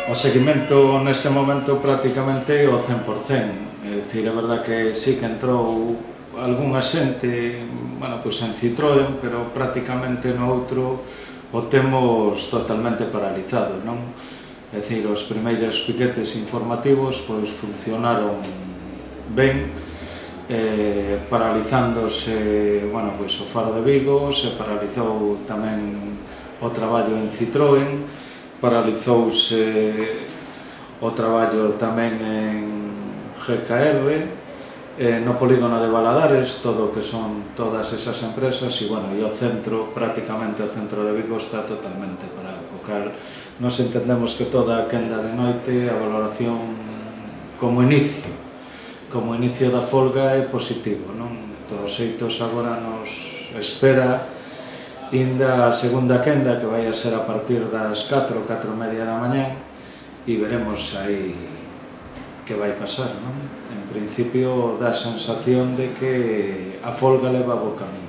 O seguimento neste momento prácticamente o 100%, é dicir, é verdad que sí que entrou algunha xente, bueno, pois en Citroën, pero prácticamente no outro o temos totalmente paralizado, non? É dicir, os primeiros piquetes informativos pois funcionaron ben, paralizándose, bueno, pois o Faro de Vigo, se paralizou tamén o traballo en Citroën, paralizouse o traballo tamén en GKR, no polígono de Valadares, todo o que son todas esas empresas, e, bueno, e o centro, prácticamente o centro de Vigo está totalmente parado, co cal nos entendemos que toda a quenda de noite, a valoración como inicio da folga é positivo, non? De todos xeitos agora nos espera inda a segunda quenda, que vai a ser a partir das 4, 4:30 da mañá, e veremos aí que vai pasar, non? En principio dá a sensación de que a folga leva bo camiño.